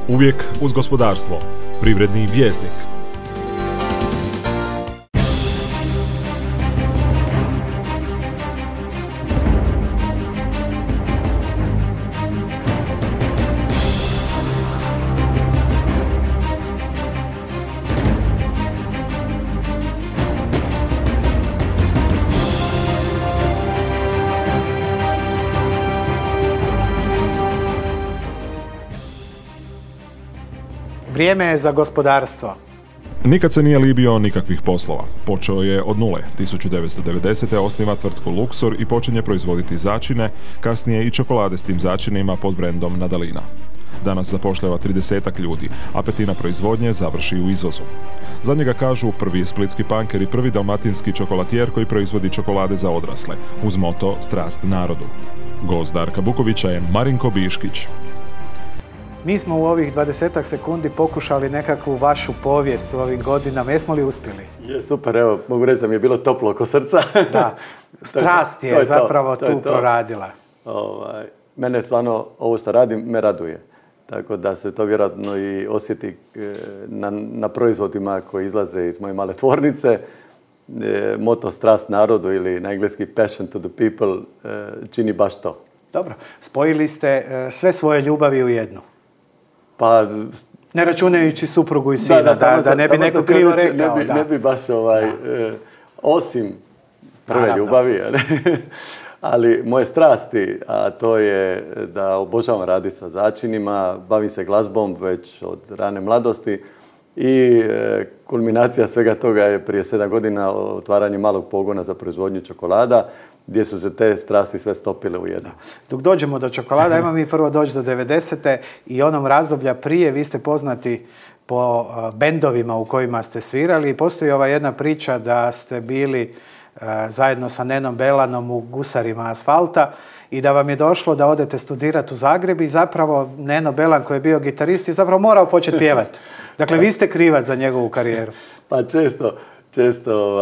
Uvijek uz gospodarstvo. Privredni vjesnik. Vrijeme je za gospodarstvo. Nikad se nije libio nikakvih poslova. Počeo je od nule. 1990. osniva tvrtku Luxor i počinje proizvoditi začine, kasnije i čokolade s tim začinima pod brendom Nadalina. Danas zapošljava 30-ak ljudi, a petina proizvodnje završi u izvozu. Za njega kažu prvi je splitski panker i prvi dalmatinski čokolatijer koji proizvodi čokolade za odrasle, uz moto Strast narodu. Gost Darka Bukovića je Marinko Biškić. Mi smo u ovih 20 sekundi pokušali nekakvu vašu povijest u ovim godinama. Jesmo li uspjeli? Je, super, evo, mogu reći da mi je bilo toplo oko srca. Da, strast je zapravo tu proradila. Mene stvarno, ovo što radim, me raduje. Tako da se to vjerojatno i osjeti na proizvodima koji izlaze iz moje male tvornice. Moto Strast narodu ili na engleski Passion to the people čini baš to. Dobro, spojili ste sve svoje ljubavi u jednu. Pa, ne računajući suprugu i sina, da ne bi neko krivo rekao. Ne bi baš osim prve ljubavi, ali moje strasti, a to je da obožavam raditi sa začinima, bavim se glazbom već od rane mladosti i kulminacija svega toga je prije 7 godina otvaranje malog pogona za proizvodnju čokolada, gdje su se te strasti sve stopile u jedno. Dok dođemo do čokolada, ajmo mi prvo doći do 90. i onom razdoblja prije. Vi ste poznati po bendovima u kojima ste svirali i postoji ova jedna priča da ste bili zajedno sa Nenom Belanom u Gusarima asfalta i da vam je došlo da odete studirati u Zagreb i zapravo Neno Belan koji je bio gitarist je zapravo morao početi pjevati. Dakle, vi ste krivac za njegovu karijeru. Pa često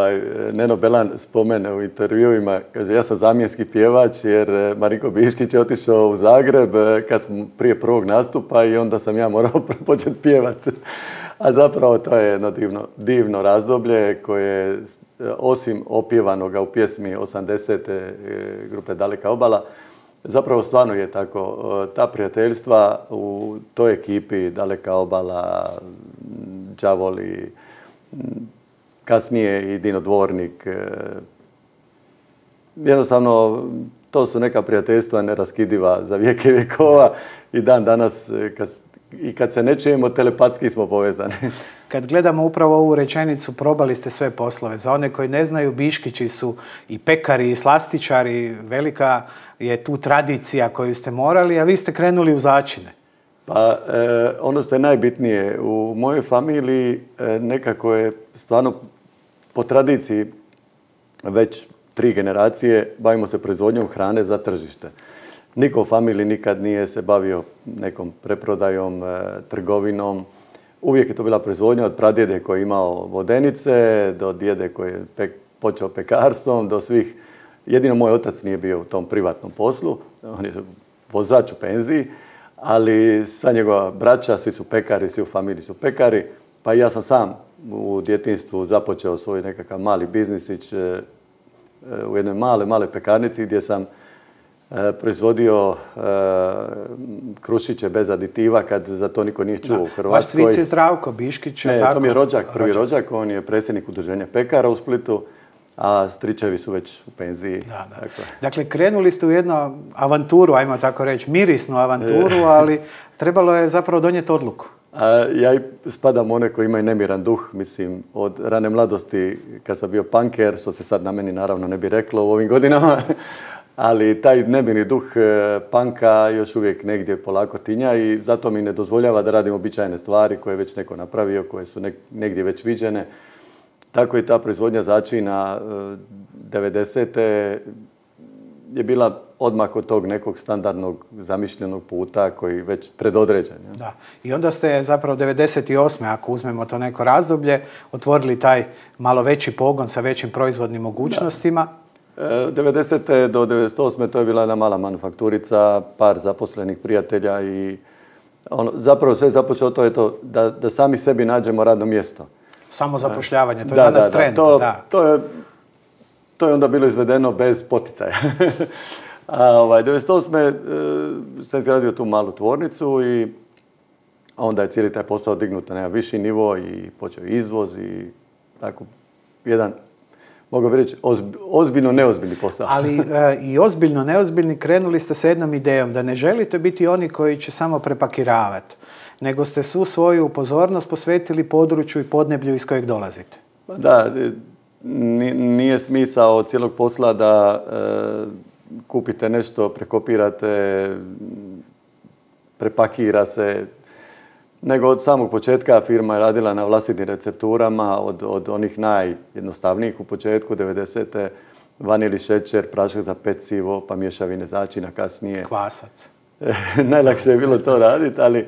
Neno Belan spomene u intervjuima, kaže ja sam zamjenski pjevač jer Marinko Biškić je otišao u Zagreb kad smo prije prvog nastupa i onda sam ja morao početi pjevati. A zapravo to je jedno divno razdoblje koje osim opjevanoga u pjesmi 80. grupe Daleka obala, zapravo stvarno je tako. Ta prijateljstva u toj ekipi Daleka obala, Đavoli, kasnije i Dino Dvornik. Jednostavno, to su neka prijateljstva neraskidiva za vijeke vjekova i dan danas, kad se ne čujemo, telepatski smo povezani. Kad gledamo upravo ovu rečenicu, probali ste sve poslove. Za one koji ne znaju, Biškići su i pekari i slastičari. Velika je tu tradicija koju ste morali, a vi ste krenuli u začine. Pa ono što je najbitnije, u mojoj familiji nekako je stvarno po tradiciji već 3 generacije bavimo se proizvodnjom hrane za tržište. Niko u familiji nikad nije se bavio nekom preprodajom, trgovinom. Uvijek je to bila proizvodnja od pradjede koji je imao vodenice, do djede koji je počeo pekarstvom, do svih. Jedino moj otac nije bio u tom privatnom poslu, on je vozač u penziji, ali sva njegova braća, svi su pekari, svi u familiji su pekari, pa i ja sam sam u djetinjstvu započeo svoj nekakav mali biznisić u jednoj male pekarnici gdje sam proizvodio krušiće bez aditiva kad za to niko nije čuo u Hrvatskoj. Vaš stric je Zdravko Biškić. Ne, to mi je prvi rođak, on je predsjednik udruženja pekara u Splitu, a stričevi su već u penziji. Dakle, krenuli ste u jednu avanturu, ajmo tako reći, mirisnu avanturu, ali trebalo je zapravo donijeti odluku. Ja spadam u one koji imaju nemiran duh, mislim, od rane mladosti kad sam bio panker, što se sad na meni naravno ne bi reklo u ovim godinama, ali taj nemirni duh panka još uvijek negdje polako tinja i zato mi ne dozvoljava da radim običajne stvari koje je već neko napravio, koje su negdje već viđene. Tako i ta proizvodnja začina 90. je bila odmah od tog nekog standardnog zamišljenog puta koji je već predodređen. Da. I onda ste zapravo 98. ako uzmemo to neko razdoblje, otvorili taj malo veći pogon sa većim proizvodnim mogućnostima. 90. do 98. to je bila jedna mala manufakturica, par zaposlenih prijatelja i zapravo sve započeo to je to da sami sebi nađemo radno mjesto. Samo zapošljavanje, to je danas trend. To je onda bilo izvedeno bez poticaja. A 1998. sam izgradio tu malu tvornicu i onda je cijeli taj posao dignut na jedan viši nivo i počeo izvoz i tako jedan, mogu bi reći, ozbiljno neozbiljni posao. Ali i ozbiljno neozbiljni krenuli ste sa jednom idejom da ne želite biti oni koji će samo prepakiravati, nego ste svu svoju pozornost posvetili području i podneblju iz kojeg dolazite. Da, nije smisao cijelog posla da kupite nešto, prekopirate, prepakira se, nego od samog početka firma je radila na vlastitim recepturama, od onih najjednostavnijih u početku, 90. vanili šećer, prašak za pecivo, pa mješavine začina kasnije. Kvasac. Najlakše je bilo to raditi, ali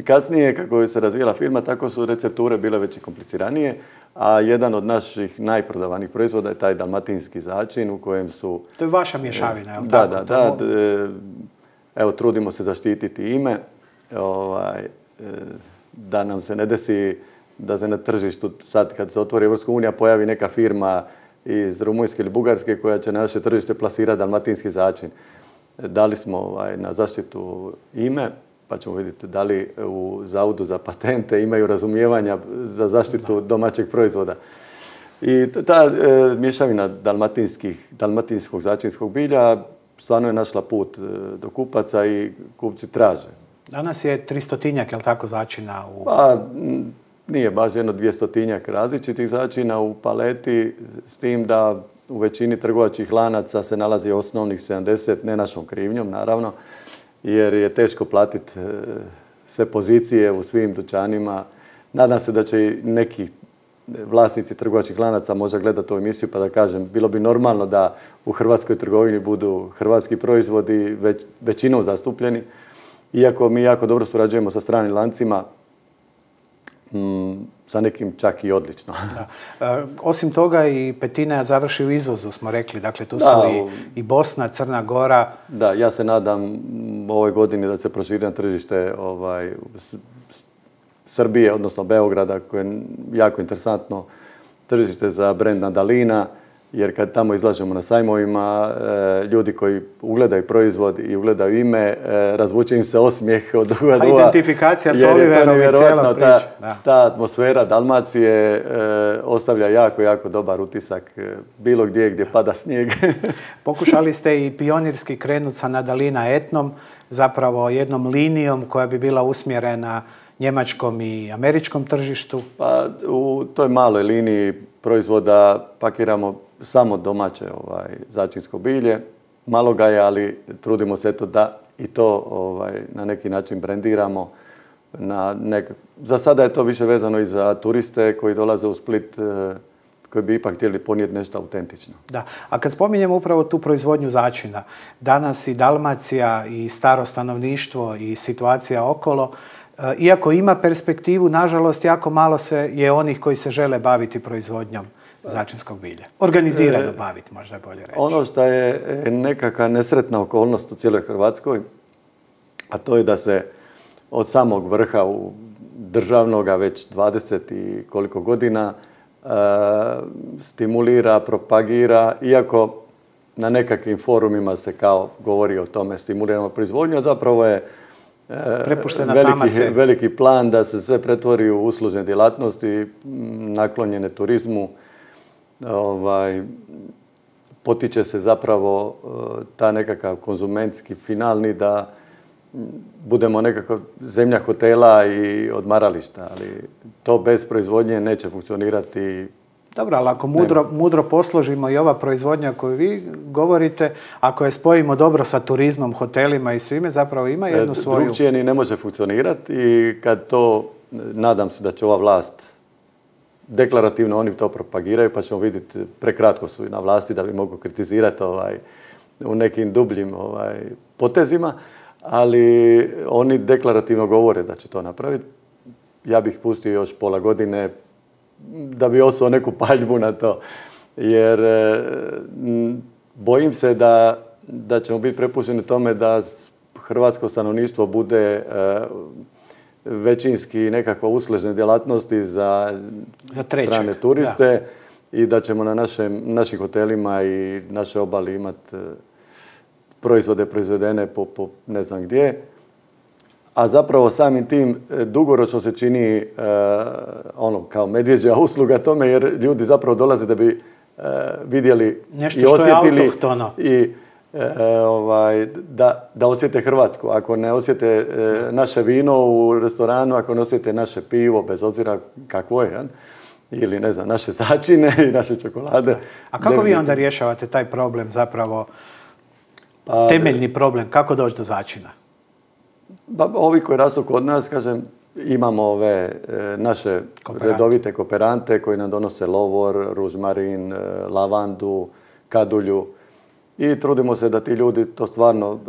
kasnije, kako se razvijela firma, tako su recepture bile već i kompliciranije, a jedan od naših najprodavanijih proizvoda je taj dalmatinski začin u kojem su... To je vaša mješavina, je li tako? Da. Evo, trudimo se zaštititi ime, da nam se ne desi da se na tržištu, sad kad se otvori Evropska unija, pojavi neka firma iz Rumunjske ili Bugarske koja će na naše tržište plasirati dalmatinski začin. Dali smo na zaštitu ime, pa ćemo vidjeti da li u Zavodu za patente imaju razumijevanja za zaštitu domaćeg proizvoda. I ta mješavina dalmatinskog začinskog bilja stvarno je našla put do kupaca i kupci traže. Danas je 300-tinjak, je li tako, začina u... Pa, nije baš 200-tinjak različitih začina u paleti, s tim da u većini trgovačkih lanaca se nalazi osnovnih 70, ne našom krivnjom, naravno, jer je teško platiti sve pozicije u svim dućanima. Nadam se da će i neki vlasnici trgovačkih lanaca možda gledati ovu emisiju pa da kažem, bilo bi normalno da u hrvatskoj trgovini budu hrvatski proizvodi većinom zastupljeni. Iako mi jako dobro surađujemo sa stranim lancima, sa nekim čak i odlično. Osim toga i petina završi u izvozu, smo rekli. Dakle, tu su i Bosna, Crna Gora. Da, ja se nadam ovoj godini da se proširi na tržište Srbije, odnosno Beograda, koje je jako interesantno tržište za brend Nadalina, jer kad tamo izlažemo na sajmovima, ljudi koji ugledaju proizvod i ugledaju ime, razvuče im se osmijeh od duga duga. Identifikacija s Oliverom i cijela priča. Ta atmosfera Dalmacije ostavlja jako, jako dobar utisak bilo gdje pada snijeg. Pokušali ste i pionirski krenuti sa Nadalina etnom, zapravo jednom linijom koja bi bila usmjerena njemačkom i američkom tržištu. Pa u toj maloj liniji proizvoda pakiramo samo domaće začinsko bilje. Malo ga je, ali trudimo se da i to na neki način brendiramo. Za sada je to više vezano i za turiste koji dolaze u Split, koji bi ipak htjeli ponijeti nešto autentično. Da, a kad spominjemo upravo tu proizvodnju začina, danas i Dalmacija i staro stanovništvo i situacija okolo, iako ima perspektivu, nažalost, jako malo je onih koji se žele baviti proizvodnjom začinskog bilja. Organizirano baviti, možda je bolje reći. Ono što je nekakva nesretna okolnost u cijeloj Hrvatskoj, a to je da se od samog vrha državnoga već 20 i koliko godina stimulira, propagira, iako na nekakvim forumima se kao govori o tome stimuliramo proizvodnju, a zapravo je veliki plan da se sve pretvori u uslužne djelatnosti, naklonjene turizmu. Potiče se zapravo ta nekakav konzumentski finalni da budemo nekako zemlja hotela i odmarališta, ali to bez proizvodnje neće funkcionirati. Dobro, ali ako mudro posložimo i ova proizvodnja koju vi govorite, ako je spojimo dobro sa turizmom, hotelima i svime, zapravo ima jednu svoju... Drugčije ni ne može funkcionirati i kad to, nadam se da će ova vlast deklarativno oni to propagiraju, pa ćemo vidjeti, prekratko su na vlasti da bi mogu kritizirati u nekim dubljim potezima, ali oni deklarativno govore da će to napraviti. Ja bih pustio još pola godine da bi osuo neku paljbu na to, jer bojim se da ćemo biti prepušteni tome da hrvatsko stanovništvo bude većinski nekakva uslužne djelatnosti za strane turiste i da ćemo na našim hotelima i naše obali imati proizvode proizvedene po ne znam gdje. A zapravo samim tim dugoročno se čini kao medvjeđa usluga tome, jer ljudi zapravo dolaze da bi vidjeli nešto i osjetili i da osjete Hrvatsku. Ako ne osjete naše vino u restoranu, ako ne osjete naše pivo, bez obzira kakvo je, ili ne znam, naše začine i naše čokolade. A kako vi onda rješavate taj problem zapravo, temeljni problem, kako doći do začina? Ovi koji rastu kod nas, kažem, imamo ove naše redovite kooperante koji nam donose lovor, ružmarin, lavandu, kadulju i trudimo se da ti ljudi to stvarno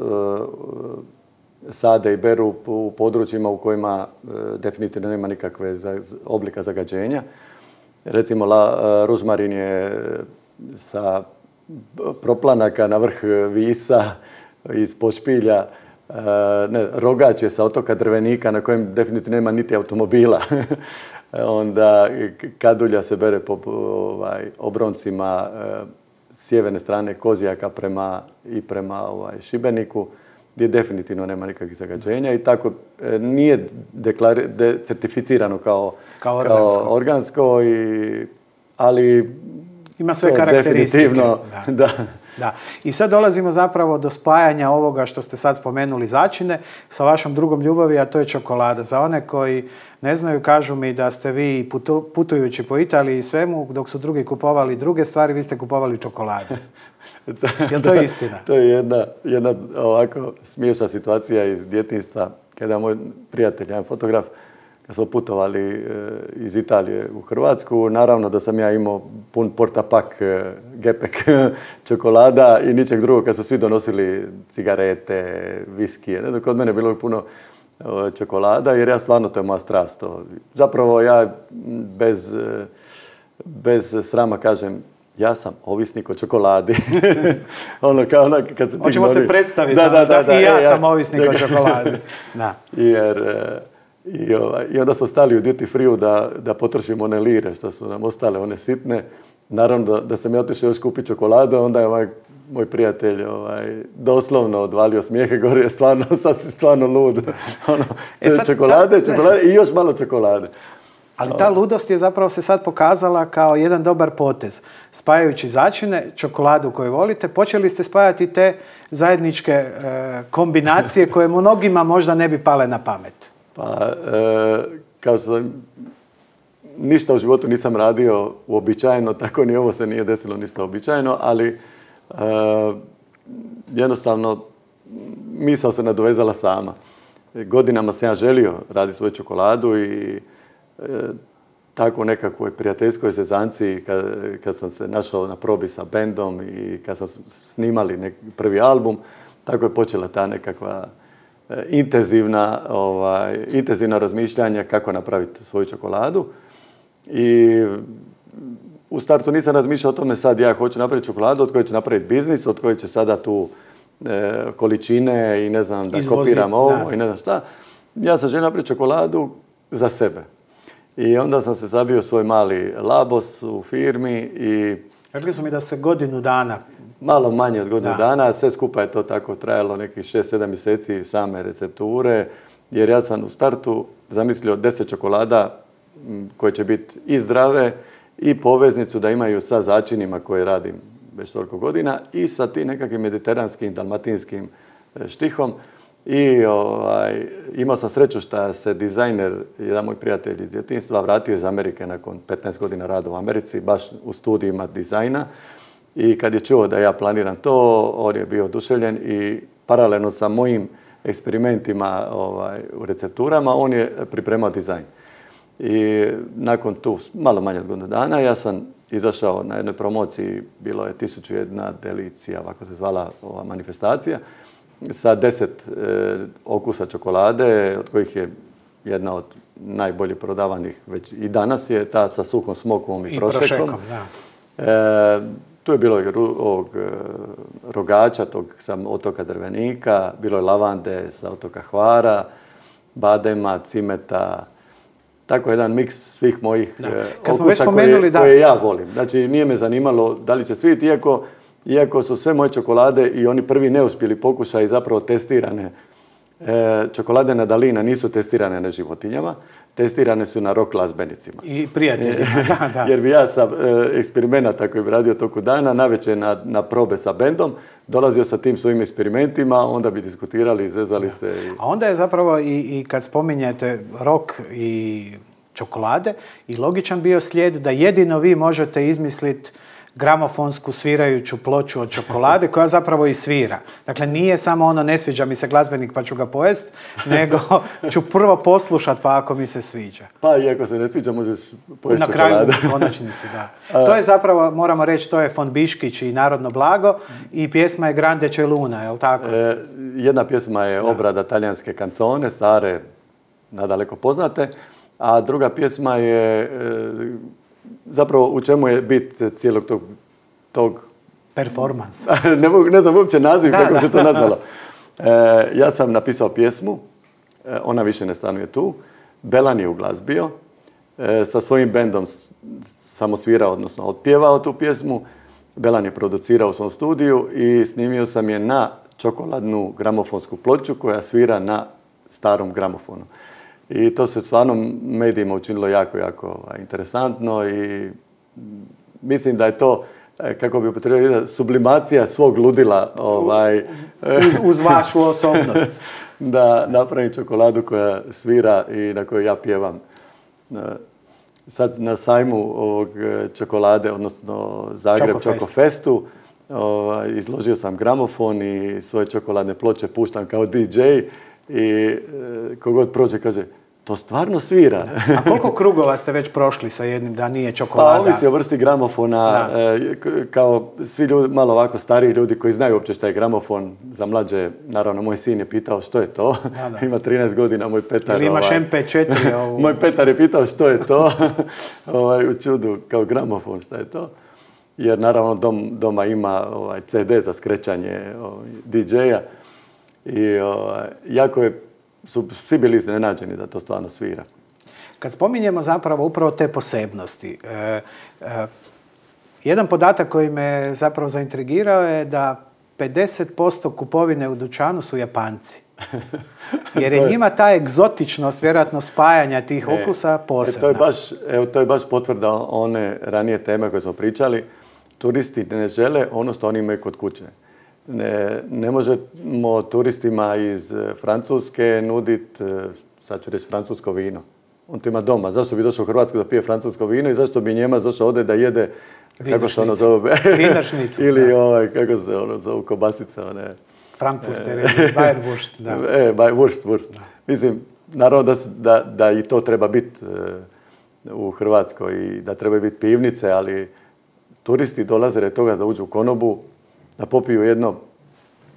sade i beru u područjima u kojima definitivno nema nikakve oblika zagađenja. Recimo, ružmarin je sa proplanaka na vrh Visa iz Pošpilja. Rogač je sa otoka Drvenika na kojem definitivno nema niti automobila. Onda kadulja se bere po obroncima sjeverne strane Kozjaka prema Šibeniku, gdje definitivno nema nikakvih zagađenja i tako nije certificirano kao organsko, ali ima sve karakteristike. Da. Da. I sad dolazimo zapravo do spajanja ovoga što ste sad spomenuli začine sa vašom drugom ljubavi, a to je čokolada. Za one koji ne znaju, kažu mi da ste vi putujući po Italiji i svemu, dok su drugi kupovali druge stvari, vi ste kupovali čokolade. Je li to istina? To je jedna ovako smiješna situacija iz djetinjstva, kada moj prijatelj, jedan fotograf, kad smo putovali iz Italije u Hrvatsku, naravno da sam ja imao pun portapak, gepek čokolada i ničeg drugog, kad su svi donosili cigarete, viskije. Kod mene je bilo puno čokolada, jer ja stvarno, to je moja strast. Zapravo ja bez srama kažem, ja sam ovisnik o čokoladi. Hoćemo se predstaviti. Da, i ja sam ovisnik o čokoladi. Da. I onda smo stali u duty free da potrošimo one lire što su nam ostale, one sitne. Naravno da sam ja otišao još kupiti čokoladu, onda je moj prijatelj doslovno odvalio smijehe, gore je stvarno lud. Čokolade i još malo čokolade. Ali ta ludost je zapravo se sad pokazala kao jedan dobar potez. Spajajući začine, čokoladu koju volite, počeli ste spajati te zajedničke kombinacije koje mnogima možda ne bi pale na pamet. Pa, kao sam ništa u životu nisam radio uobičajeno, tako ni ovo se nije desilo ništa uobičajeno, ali jednostavno misao se nadovezala sama. Godinama sam ja želio raditi svoju čokoladu i tako u nekakvoj prijateljskoj zezanci kad sam se našao na probi sa bendom i kad sam snimali prvi album, tako je počela ta nekakva intenzivna razmišljanja kako napraviti svoju čokoladu. I u startu nisam razmišljao o tome sad ja hoću napraviti čokoladu od koje ću napraviti biznis, od koje će sada tu količine i ne znam da kopiram ovo i ne znam šta. Ja sam želio napraviti čokoladu za sebe. I onda sam se zabio svoj mali labos u firmi i... Rekli su mi da se godinu dana... Malo manje od godinu dana, sve skupa je to tako trajalo nekih 6-7 mjeseci same recepture, jer ja sam u startu zamislio 10 čokolada koje će biti i zdrave i poveznicu da imaju sa začinima koje radim već toliko godina i sa tim nekakvim mediteranskim, dalmatinskim štihom. I imao sam sreću što se dizajner, jedan moj prijatelj iz djetinjstva, vratio iz Amerike nakon 15 godina rada u Americi, baš u studijima dizajna. I kad je čuo da ja planiram to, on je bio oduševljen i paralelno sa mojim eksperimentima u recepturama, on je pripremao dizajn. I nakon tu malo manje od godinu dana ja sam izašao na jednoj promociji, bilo je 1001 delicija, ovako se zvala ova manifestacija, sa 10 okusa čokolade, od kojih je jedna od najbolje prodavanih već i danas je ta sa suhom smokovom i prošekom. Tu je bilo i rogača, tog sam otoka Drvenika, bilo je lavande sa otoka Hvara, badema, cimeta, tako jedan miks svih mojih okusa koje ja volim. Znači, nije me zanimalo da li će sviti, iako su sve moje čokolade i oni prvi neuspjeli pokušaj zapravo testirane. Čokolade Nadalina nisu testirane na životinjama, testirane su na rock glazbenicima. I prijateljima, da. Jer bi ja sa eksperimenata koji bi radio toku dana, navečer na probe sa bendom, dolazio sa tim svojim eksperimentima, onda bi diskutirali, izvezali se. A onda je zapravo i kad spominjete rock i čokolade, i logičan bio slijed da jedino vi možete izmisliti gramofonsku svirajuću ploču od čokolade koja zapravo i svira. Dakle, nije samo ono ne sviđa mi se glazbenik pa ću ga pojest, nego ću prvo poslušat pa ako mi se sviđa. Pa i ako se ne sviđa možeš pojesti na kraju u konačnici, da. To je zapravo, moramo reći, to je von Biškić i Narodno blago i pjesma je Grande C'è Luna, je li tako? Jedna pjesma je obrada talijanske kancone, stare, nadaleko poznate, a druga pjesma je zapravo u čemu je bit cijelog tog performans. ne znam uopće naziv kako se to nazvalo. Ja sam napisao pjesmu, ona više ne stanuje tu, Belan je uglazbio, sa svojim bendom sam osvirao, odnosno otpjevao tu pjesmu, Belan je producirao u svom studiju i snimio sam je na čokoladnu gramofonsku ploču koja svira na starom gramofonu. I to se stvarno medijima učinilo jako, jako interesantno i mislim da je to, kako bi upotrebili, sublimacija svog ludila. Uz vašu osobnost. Da napravim čokoladu koja svira i na kojoj ja pjevam. Sad na sajmu ovog čokolade, odnosno Zagreb Čokofestu, izložio sam gramofon i svoje čokoladne ploče puštam kao DJ i kogod prođe kaže, to stvarno svira. A koliko krugova ste već prošli sa jednim da nije čokolada? Pa ovisi o vrsti gramofona. Kao svi ljudi, malo ovako stariji ljudi koji znaju uopće šta je gramofon, za mlađe, naravno, moj sin je pitao što je to. Ima 13 godina, moj Petar. Ili imaš MP4? Moj Petar je pitao što je to. U čudu, kao gramofon, šta je to. Jer naravno doma ima CD za skrećanje DJ-a. I jako su svi bili iznenađeni da to stvarno svira. Kad spominjemo zapravo upravo te posebnosti, jedan podatak koji me zapravo zaintrigirao je da 50% kupovine u dućanu su Japanci. Jer je njima ta egzotičnost, vjerojatno spajanja tih okusa posebna. To je baš potvrda one ranije teme koje smo pričali. Turisti ne žele ono što oni imaju kod kuće. Ne možemo turistima iz Francuske nuditi, sad ću reći, francusko vino. On to ima doma. Zašto bi došao u Hrvatsku da pije francusko vino i zašto bi Njemac došao ovdje da jede, kako se ono zove? Vinašnicu. Ili kako se ono zove, kobasica. Frankfurter ili Bayerwurst. Wurst. Mislim, naravno da i to treba biti u Hrvatskoj i da treba biti pivnice, ali turisti dolaze od toga da uđu u konobu, da popiju jedno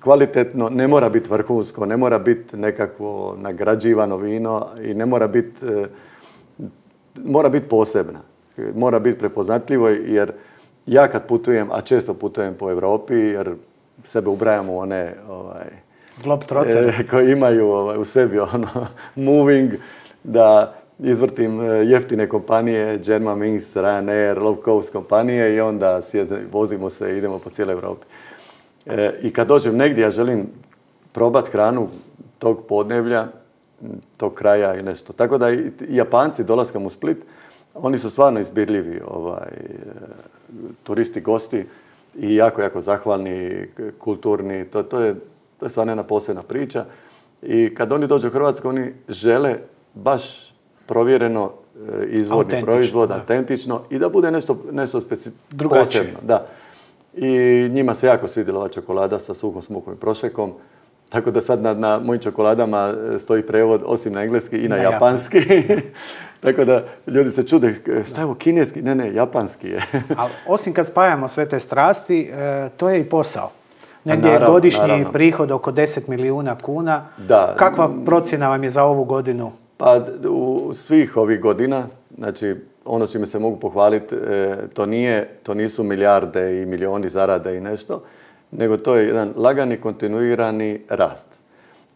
kvalitetno, ne mora biti vrhunsko, ne mora biti nekakvo nagrađivano vino i ne mora biti, mora biti posebna. Mora biti prepoznatljivo jer ja kad putujem, a često putujem po Europi jer sebe ubrajam u one koji imaju u sebi moving, da izvrtim jeftine kompanije, Germanwings, Ryanair, low cost kompanije i onda vozimo se i idemo po cijeloj Europi. I kad dođem negdje, ja želim probati hranu tog podneblja, tog kraja i nešto. Tako da i Japanci dolaskom u Split, oni su stvarno izbirljivi turisti, gosti i jako, jako zahvalni, kulturni. To je stvarno jedna posebna priča. I kad oni dođu u Hrvatsku, oni žele baš provjereno izvorni proizvod, autentično i da bude nešto posebno. Da. I njima se jako svidjela ova čokolada sa suhom smukom i prošekom. Tako da sad na mojim čokoladama stoji prevod osim na engleski i na japanski. Tako da ljudi se čude, šta je ovo, kineski? Ne, japanski je. Ali osim kad spajamo sve te strasti, to je i posao. Negdje je godišnji prihod oko 10 milijuna kuna. Da. Kakva procjena vam je za ovu godinu? Pa u svih ovih godina, znači ono čime se mogu pohvaliti, to nisu milijarde i milijuni zarade i nešto, nego to je jedan lagani, kontinuirani rast.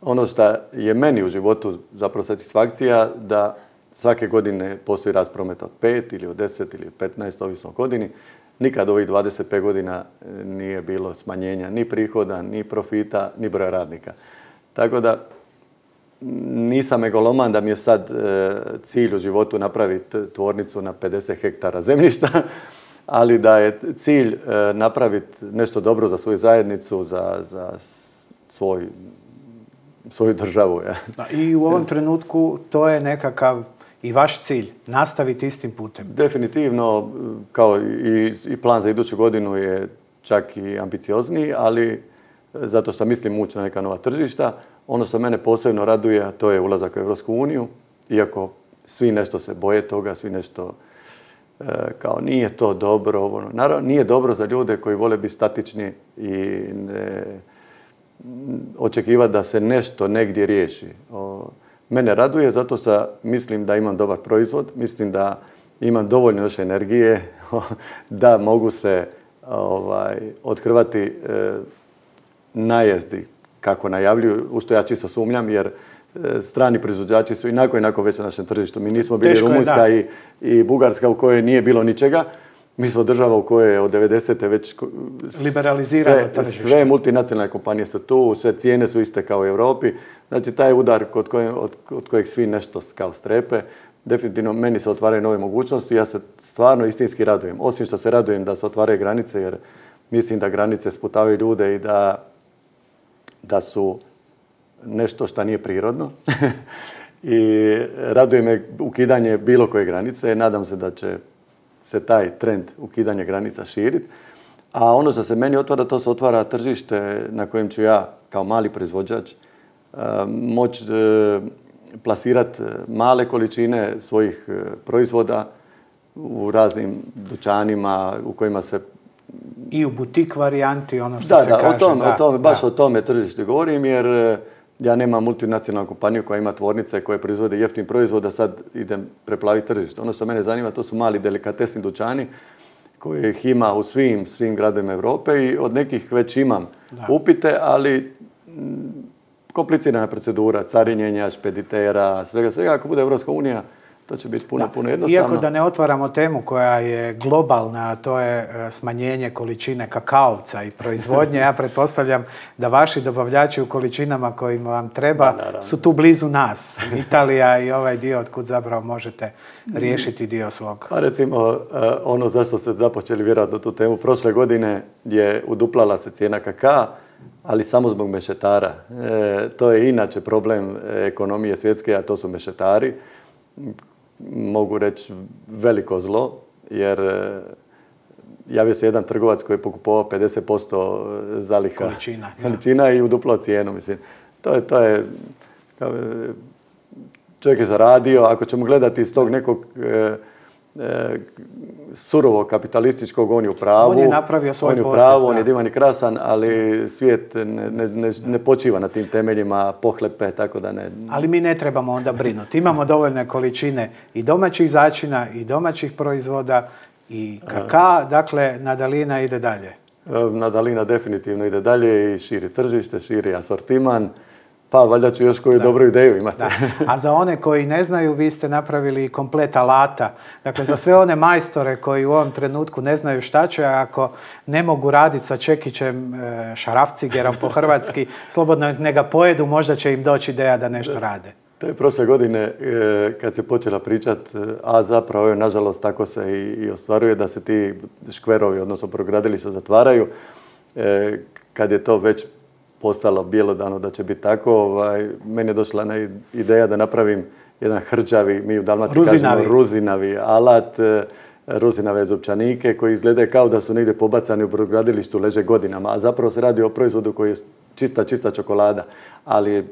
Ono što je meni u životu zapravo satisfakcija, da svake godine postoji rast prometa od 5 ili od 10 ili 15, ovisno o godini. Nikad ovih 25 godina nije bilo smanjenja ni prihoda, ni profita, ni broja radnika. Tako da nisam megaloman da mi je sad cilj u životu napraviti tvornicu na 50 hektara zemljišta, ali da je cilj napraviti nešto dobro za svoju zajednicu, za svoju državu. Ja. I u ovom trenutku to je nekakav i vaš cilj, nastaviti istim putem? Definitivno, kao i plan za iduću godinu je čak i ambiciozniji, ali zato što mislim ući na neka nova tržišta. Ono što mene posebno raduje, a to je ulazak u Europsku uniju, iako svi nešto se boje toga, svi nešto kao nije to dobro. Naravno, nije dobro za ljude koji vole biti statični i očekivati da se nešto negdje riješi. Mene raduje zato što mislim da imam dobar proizvod, mislim da imam dovoljno još energije da mogu se othrvati najezdi kako najavljuju, u što ja čisto sumnjam, jer strani proizvođači su inako već na našem tržištu. Mi nismo bili Rumunjska i Bugarska u kojoj nije bilo ničega. Mi smo država u kojoj je od 90. već liberalizirano tržište. Sve multinacionalne kompanije su tu, sve cijene su iste kao u Europi. Znači, taj udar od kojeg svi nešto kao strepe, definitivno meni se otvaraju nove mogućnosti. Ja se stvarno istinski radujem. Osim što se radujem da se otvaraju granice, jer mislim da granice sputavaju ljude i da su nešto što nije prirodno. I raduje me ukidanje bilo koje granice. Nadam se da će se taj trend ukidanja granica širiti. A ono što se meni otvara, to se otvara tržište na kojem ću ja kao mali proizvođač moći plasirati male količine svojih proizvoda u raznim dućanima u kojima se... I u butik varijanti, ono što se kaže. Baš o tome tržištu govorim, jer ja nemam multinacionalnu kompaniju koja ima tvornice koje proizvode jeftin proizvod, a sad idem preplaviti tržište. Ono što mene zanima, to su mali delikatesni dućani kojih ima u svim gradovima Europe i od nekih već imam upite, ali komplicirana procedura, carinjenja, špeditera, svega. Ako bude Europska unija, to će biti puno jednostavno. Iako da ne otvaramo temu koja je globalna, a to je smanjenje količine kakaovca i proizvodnje, ja pretpostavljam da vaši dobavljači u količinama kojima vam treba su tu blizu nas. Italija i ovaj dio otkud zapravo možete riješiti dio svog. Pa recimo, ono zašto ste započeli vjerojatno tu temu, prošle godine je uduplala se cijena kakaa, ali samo zbog mešetara. To je inače problem ekonomije svjetske, a to su mešetari. Mogu reći veliko zlo, jer javio se jedan trgovac koji je pokupovao 50% zaliha količina i uduplao cijenu. Mislim, to je čovjek je zaradio. Ako ćemo gledati iz tog nekog surovog kapitalističkog, on je u pravu. On je napravio svoj potez. On je divan i krasan, ali svijet ne počiva na tim temeljima pohlepe, tako da ne... Ali mi ne trebamo onda brinuti. Imamo dovoljne količine i domaćih začina i domaćih proizvoda i kakaa, dakle, Nadalina ide dalje. Nadalina definitivno ide dalje i širi tržište, širi asortiman. Pa, valjda ću još koju dobru ideju imati. A za one koji ne znaju, vi ste napravili komplet alata. Dakle, za sve one majstore koji u ovom trenutku ne znaju šta će, ako ne mogu raditi sa čekićem, šarafcigerom po hrvatski, slobodno ne ga pojedu, možda će im doći ideja da nešto rade. To je prošle godine kad se počela pričat, a zapravo, nažalost, tako se i ostvaruje da se ti škverovi, odnosno progradilišta zatvaraju. Kad je to već postalo bjelodano da će biti tako, meni je došla ideja da napravim jedan hrđavi, mi u Dalmaciji kažemo ruzinavi alat, ruzinave zupčanike koji izgledaju kao da su negdje pobacani u brodogradilištu, leže godinama, a zapravo se radi o proizvodu koji je čista čokolada. Ali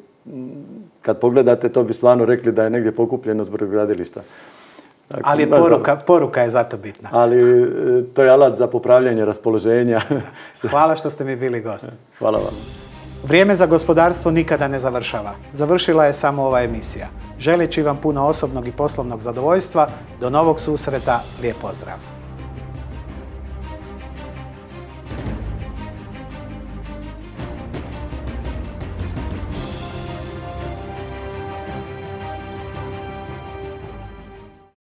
kad pogledate, to bi stvarno rekli da je negdje pokupljeno s brodogradilišta. Dakle, ali poruka je zato bitna. Ali to je alat za popravljanje raspoloženja. Hvala što ste mi bili gost. Hvala vam. Vrijeme za gospodarstvo nikada ne završava. Završila je samo ova emisija. Želeći vam puno osobnog i poslovnog zadovoljstva, do novog susreta, lijep pozdrav!